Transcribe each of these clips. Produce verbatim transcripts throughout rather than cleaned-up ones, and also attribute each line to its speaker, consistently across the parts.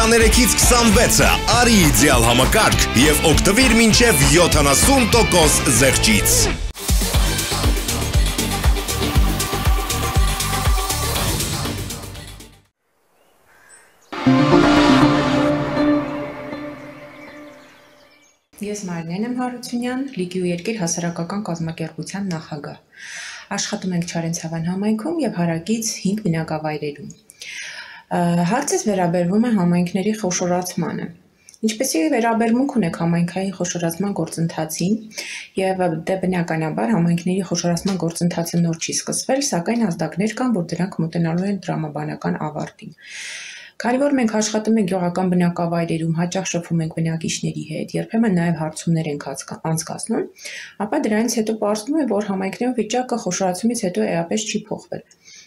Speaker 1: քսաներեքից քսանվեցը արի իդեալ համակարգ եւ օգտվիր մինչեւ յոթանասուն տոկոս զեղչից։
Speaker 2: Ես Մարինեն եմ Հարությունյան, Լիգի ու երկիր հասարակական կազմակերպության նախագահ։ Աշխատում ենք Չարենցավան համայնքում եւ հարակից հինգ բնակավայրերում։ Հարցս վերաբերվում է համայնքների խոշորացմանը։ Ինչպեսի վերաբերմունք ունեք համայնքային խոշորացման գործընթացին եւ դե բնականաբար համայնքների խոշորացման գործընթացը նոր չի սկսվել, սակայն ազդակներ կան, որ դրանք մոտենալու են տրամաբանական ավարտին։ Քանի որ մենք աշխատում ենք գյուղական բնակավայրերում, հաճախ շփվում ենք բնակիչների հետ, երբեմն նաև հարցումներ ենք անցկացնում, ապա դրանից հետո պարզվում է, որ համայնքներում վիճակը խոշորացումից հետո էապես չի փոխվել։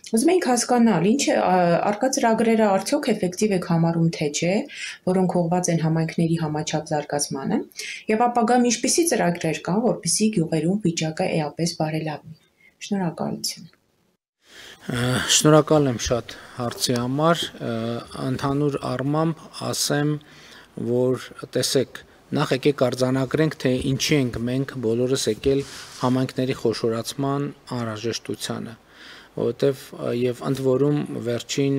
Speaker 2: Ուզում ենք հասկանալ, ինչ է արկա ծրագրերը արդյոք էֆեկտիվ եք համարում թե չէ, որոնք ուղղված են համայնքների համաչափ զարգացմանը, եւ ապագայում ինչպիսի ծրագրեր կան, որպեսզի գյուղերում վիճակը էապես բարելավի։ Շնորհակալություն։
Speaker 3: Շնորհակալ եմ շատ հարցի համար, ընդհանուր առմամբ ասեմ, որ տեսեք, նախ եկեք արձանագրենք, թե ինչի ենք մենք բոլորս եկել համայնքների խոշորացման անհրաժեշտությանը, որովհետև եւ ընդ որում վերջին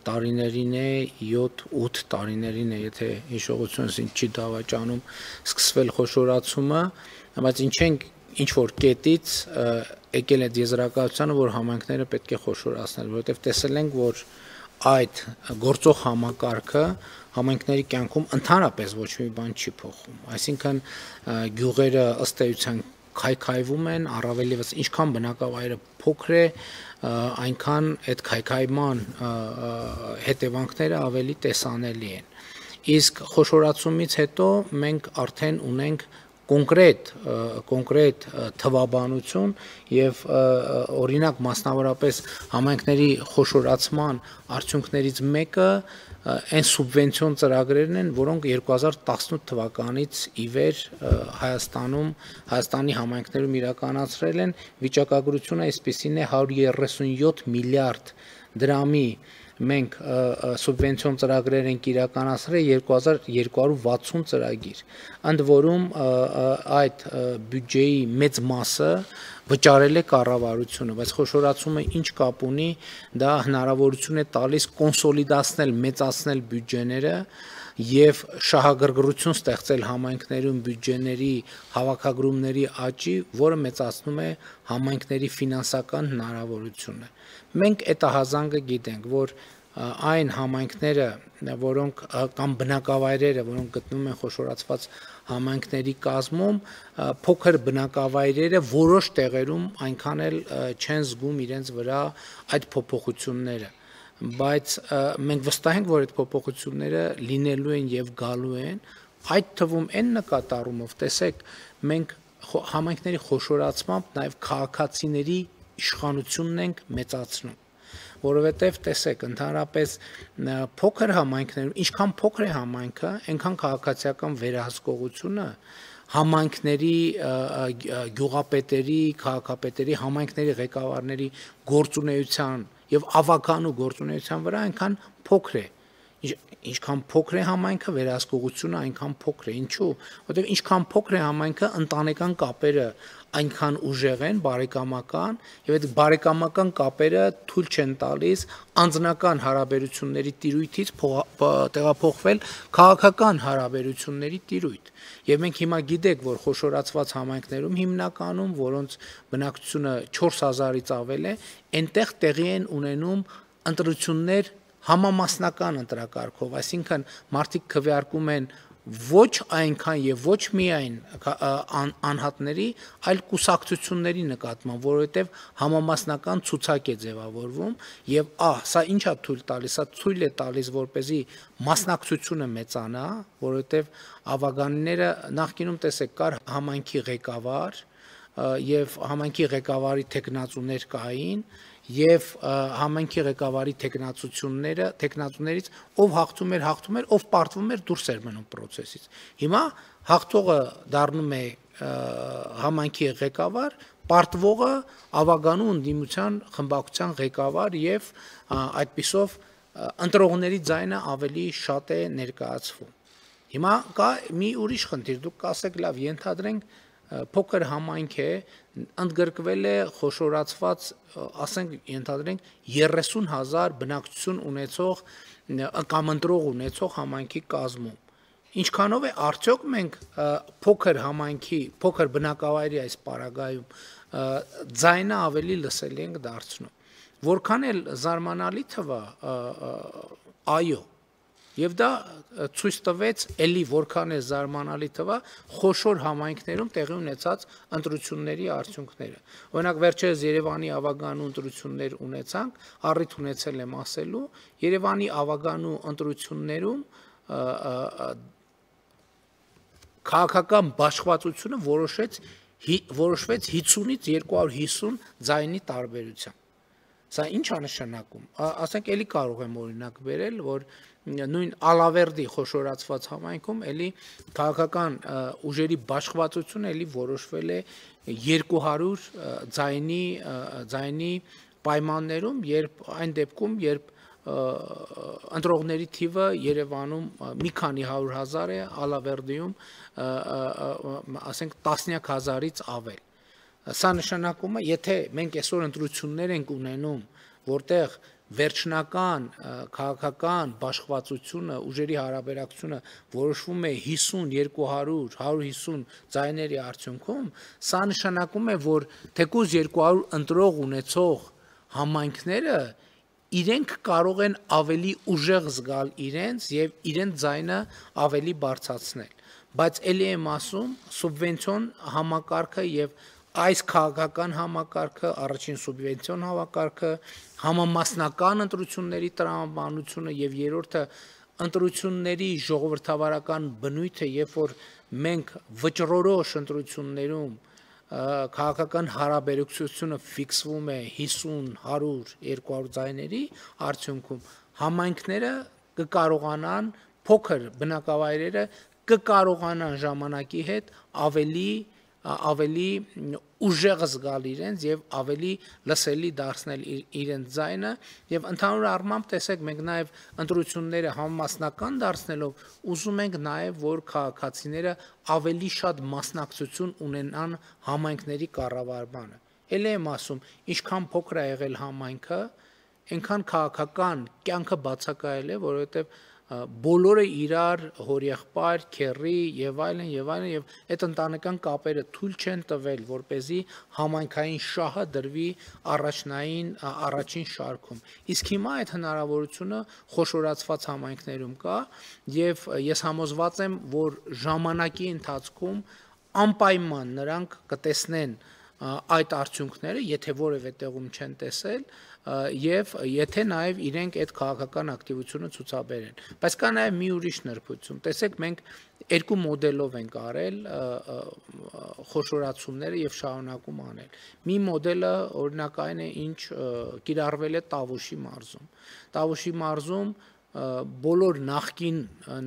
Speaker 3: տարիներին է յոթ-ութ տարիներին է, եթե հիշողությունս ինձ չի դավաճանում, սկսվել խոշորացումը, բայց ինչ ենք ինչ որ կետից եկել այդ եզրակացությանը, որ համայնքները պետք է խոշորացնել, որովհետև տեսել ենք, որ այդ գործող համակարգը համայնքների կյանքում ընդհանրապես ոչ մի բան չի փոխում, այսինքն գյուղերը ըստ էության քայքայվում են, առավել ևս ինչքան բնակավայրը փոքր է, այնքան այդ քայքայման հետևանքները ավելի տեսանելի են։ Իսկ խոշորացումից հետո մենք արդեն ունենք կոնկրետ կոնկրետ թվաբանություն եւ օրինակ մասնավորապես համայնքների խոշորացման արդյունքներից մեկը այն սուբվենցիոն ծրագրերն են, որոնք երկու հազար տասնութ թվականից ի վեր Հայաստանում Հայաստանի համայնքներում իրականացրել են, վիճակագրությունը այսպիսին է հարյուր երեսունյոթ միլիարդ դրամի մենք սուբվենցիոն ծրագրեր ենք իրականացրել երկու հազար երկու հարյուր վաթսուն ծրագիր, ընդ որում այդ բյուջեի մեծ մասը վճարել է կառավարությունը, բայց խոշորացումը ինչ կապ ունի, դա հնարավորություն է տալիս կոնսոլիդացնել, մեծացնել բյուջեները եւ շահագրգռություն ստեղծել համայնքներում բյուջեների հավաքագրումների աճի, որը մեծացնում է համայնքների ֆինանսական հնարավորությունը։ Մենք այդ հազանգը գիտենք, որ այն համայնքները, որոնք կամ բնակավայրերը, որոնք գտնվում են խոշորացված համայնքների կազմում, փոքր բնակավայրերը որոշ տեղերում այնքան էլ չեն զգում իրենց վրա այդ փոփոխությունները, բայց մենք վստահ ենք, որ այդ փոփոխությունները լինելու են եւ գալու են, այդ թվում այն նկատառումով, տեսեք, մենք համայնքների խոշորացմամբ նաեւ քաղաքացիների իշխանությունն ենք մեծացնում, որովհետև տեսեք, ընդհանրապես փոքր համայնքներում, ինչքան փոքր է համայնքը, այնքան քաղաքացիական վերահսկողությունը համայնքների, գյուղապետերի, քաղաքապետերի, համայնքների ղեկավարների գործունեության եւ ավականու գործունեության վրա այնքան փոքր է։ Ինչքան փոքր է համայնքը, վերահսկողությունը այնքան փոքր է։ Ինչու՞։ Որովհետև ինչքան փոքր է համայնքը, ընտանեկան կապերը այնքան ուժեղ են, բարեկամական, եւ այդ բարեկամական կապերը թույլ չեն տալիս անձնական հարաբերությունների տիրույթից տեղափոխվել քաղաքական հարաբերությունների տիրույթ։ Եվ մենք հիմա գիտենք, որ խոշորացված համայնքներում հիմնականում, որոնց բնակչությունը չորս հազարից ավել է, այնտեղ տեղի են ունենում ընտրություններ համամասնական ընտրակարգով, այսինքն մարդիկ քվեարկում են ոչ այնքան եւ ոչ միայն անհատների, այլ կուսակցությունների նկատմամբ, որովհետեւ համամասնական ցուցակ է ձևավորվում եւ ահ, սա ինչա թույլ տալիս, սա թույլ է տալիս, որպեսզի մասնակցությունը մեծանա, որովհետեւ ավագանները նախկինում տեսեք կար համայնքի ղեկավար եւ համայնքի ղեկավարի տեխնացուներ կային եւ համայնքի ղեկավարի տեխնացությունները, տեխնացուներից ով հաղթում էր, հաղթում էր, ով պարտվում էր, դուրս էր մնում process-ից։ Հիմա հաղթողը դառնում է համայնքի ղեկավար, պարտվողը ավագանու ընդդիմության խմբակցության ղեկավար եւ այդպիսով ընտրողների ձայնը ավելի շատ է ներկայացվում։ Հիմա կա մի ուրիշ խնդիր, դուք կասեք, լավ, ենթադրենք փոքր համայնք է, ընդգրկվել է խոշորացված, ասենք, ենթադրենք երեսուն հազար բնակչություն ունեցող կամ ընտրող ունեցող համայնքի կազմում։ Ինչքանով է արդյոք մենք փոքր համայնքի, փոքր բնակավայրի այս պարագայում ձայնը ավելի լսելի ենք դարձնում։ Որքան էլ զարմանալի թվա, այո, եւ դա ցույց տվեց էլի որքան է զարմանալի թվա խոշոր համայնքներում տեղի ունեցած ընտրությունների արդյունքները։ Օրինակ վերջերս Երևանի ավագանու ընտրություններ ունեցանք, առիթ ունեցել եմ ասելու, Երևանի ավագանու ընտրություններում քաղաքական բաշխվածությունը որոշեց որոշվեց հիսունից երկու հարյուր հիսուն ձայնի տարբերությամբ։ Սա ինչ է նշանակում։ Ասենք էլի կարող եմ օրինակ բերել, որ նույն Ալավերդի խոշորացված համայնքում էլի քաղաքական ուժերի բաշխվածությունը էլի որոշվել է երկու հարյուր ձայնի ձայնի պայմաններում, երբ այն դեպքում, երբ ընտրողների թիվը Երևանում մի քանի հարյուր հազար է, Ալավերդիում ասենք տասնյակ հազարից ավել։ Սա նշանակում է, եթե մենք այսօր ընտրություններ ենք ունենում, որտեղ վերջնական քաղաքական բաշխվածությունը, ուժերի հարաբերակցությունը որոշվում է հիսուն, երկու հարյուր, հարյուր հիսուն ձայների արդյունքում, սա նշանակում է, որ թեկուզ երկու հարյուր ընտրող ունեցող համայնքները իրենք կարող են ավելի ուժեղ զգալ իրենց եւ իրենց ձայնը ավելի բարձրացնել։ Բայց ելի եմ ասում, սուբվենցիոն համակարգը եւ այս քաղաքական համակարգը, առաջին սուբվենցիոն համակարգը, համամասնական ընտրությունների տրամաբանությունը եւ երրորդը ընտրությունների ժողովրդավարական բնույթը, երբ որ մենք վճռորոշ ընտրություններում քաղաքական հարաբերակցությունը ֆիքսվում է հիսուն, հարյուր, երկու հարյուր ձայների արդյունքում, համայնքները կկարողանան, փոքր բնակավայրերը կկարողանան ժամանակի հետ ավելի ավելի ուժեղ զգալ իրենց եւ ավելի լսելի դարձնել իրենց ձայնը եւ ընդհանուր առմամբ տեսեք մենք նաեւ ընտրությունները համամասնական դարձնելով ուզում ենք նաեւ որ քաղաքացիները ավելի շատ մասնակցություն ունենան համայնքների կառավարմանը։ Էլ եմ ասում, ինչքան փոքր է եղել համայնքը, այնքան քաղաքական կյանքը բացակայել է, որովհետեւ բոլորը իրար հորեղբայր, քեռի եւ այլն եւ այլն եւ այդ ընտանեկան կապերը թույլ չեն տվել, որպեսզի համայնքային շահը դրվի առաջնային առաջին շարքում։ Իսկ հիմա այդ հնարավորությունը խոշորացված համայնքներում կա եւ ես համոզված եմ, որ ժամանակի ընթացքում անպայման նրանք կտեսնեն այդ արդյունքները, եթե որևէ տեղում չեն տեսել, եւ եթե նաեւ իրենք այդ քաղաքական ակտիվությունը ցուցաբերեն։ Բայց կա նաեւ մի ուրիշ նրբություն։ Տեսեք, մենք երկու մոդելով ենք արել խոշորացումները եւ շարունակում անել։ Մի մոդելը օրինակային է, ինչ կիրառվել է Տավուշի մարզում։ Տավուշի մարզում բոլոր նախկին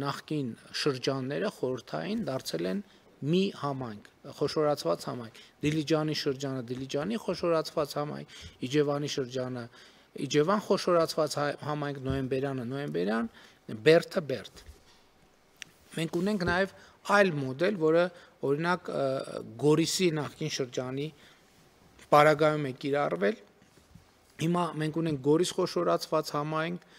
Speaker 3: նախկին շրջանները խորհրդային դարձել են մի համայնք, խոշորացված համայնք, Դիլիջանի շրջանը Դիլիջանի խոշորացված համայնք, Իջևանի շրջանը Իջևան խոշորացված համայնք, Նոյեմբերյանը Նոյեմբերյան, Բերդը Բերդ։ Մենք ունենք նաև այլ մոդել, որը օրինակ Գորիսի նախկին շրջանի պարագայում է կիրառվել։ Հիմա մենք ունենք Գորիս խոշորացված համայնք,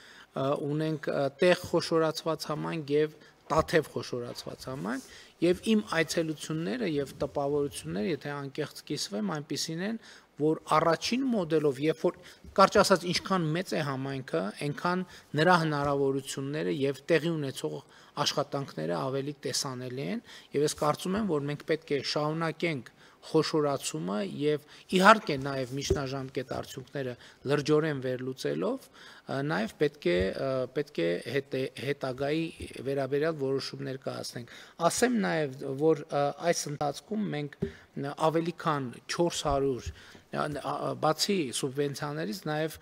Speaker 3: ունենք Տեղ խոշորացված համայնք եւ Տաթև խոշորացված համայնք եւ իմ այցելությունները եւ տպավորությունները, եթե անկեղծ կիսվեմ, այնպիսին են, որ առաջին մոդելով, երբ որ կարճ ասած ինչքան մեծ է համայնքը, այնքան նրա հնարավորությունները եւ տեղի ունեցող աշխատանքները ավելի տեսանելի են եւ ես կարծում եմ, որ մենք պետք է շարունակենք խոշորացումը եւ իհարկե նաեւ միջնաժամկետ արդյունքները լրջորեն վերլուծելով նաեւ պետք է պետք է հետ, հետագայի վերաբերյալ որոշումներ կայացնենք։ Ասեմ նաեւ, որ այս ընթացքում մենք ավելի քան չորս հարյուր բացի սուբվենցիաներից նաև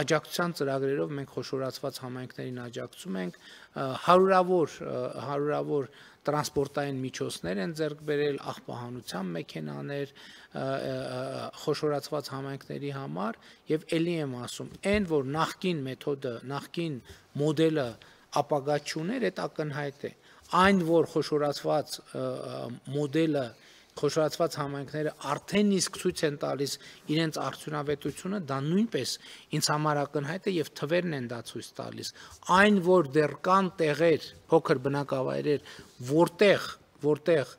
Speaker 3: աջակցության ծրագրերով մենք խոշորացված համայնքներին աջակցում ենք, հարյուրավոր հարյուրավոր տրանսպորտային միջոցներ են ձեռք բերել, աղբահանության մեքենաներ խոշորացված համայնքների համար, եւ ելի եմ ասում, այն որ նախկին մեթոդը, նախկին մոդելը ապագա չուներ, այդ ակնհայտ է, այն որ խոշորացված մոդելը խոշորացված համայնքները արդեն իսկ ցույց են տալիս իրենց արդյունավետությունը, դա նույնպես ինձ համար ակնհայտ է եւ թվերն են դա ցույց տալիս, այն որ դեռ կան տեղեր, փոքր բնակավայրեր, որտեղ որտեղ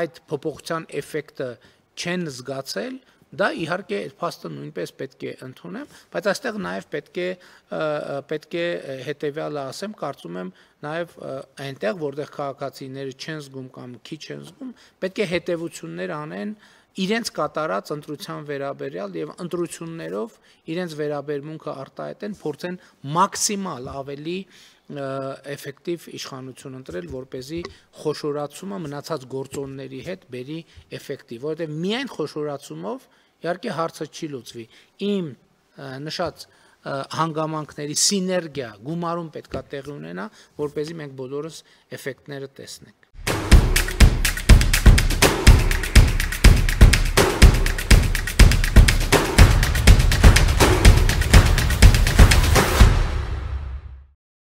Speaker 3: այդ փոփոխության էֆեկտը չեն զգացել, դա իհարկե այդ փաստը նույնպես պետք է ընդունեմ, բայց այստեղ նաև պետք է պետք է հետեւյալը ասեմ, կարծում եմ նաև այնտեղ, որտեղ քաղաքացիները չեն զգում կամ քիչ են զգում, պետք է հետևություններ անեն իրենց կատարած ընտրության վերաբերյալ եւ ընտրություններով իրենց վերաբերմունքը արտահայտեն, փորձեն մաքսիմալ ավելի էֆեկտիվ իշխանություն ընտրել, որպեսզի խոշորացումը մնացած գործոնների հետ բերի էֆեկտիվ, որովհետեւ միայն խոշորացումով իհարկե հարցը չի լուծվի։ Իմ նշած հանգամանքների սիներգիա գումարում պետքա տեղի ունենա, որպեսզի մենք բոլորս էֆեկտները տեսնենք։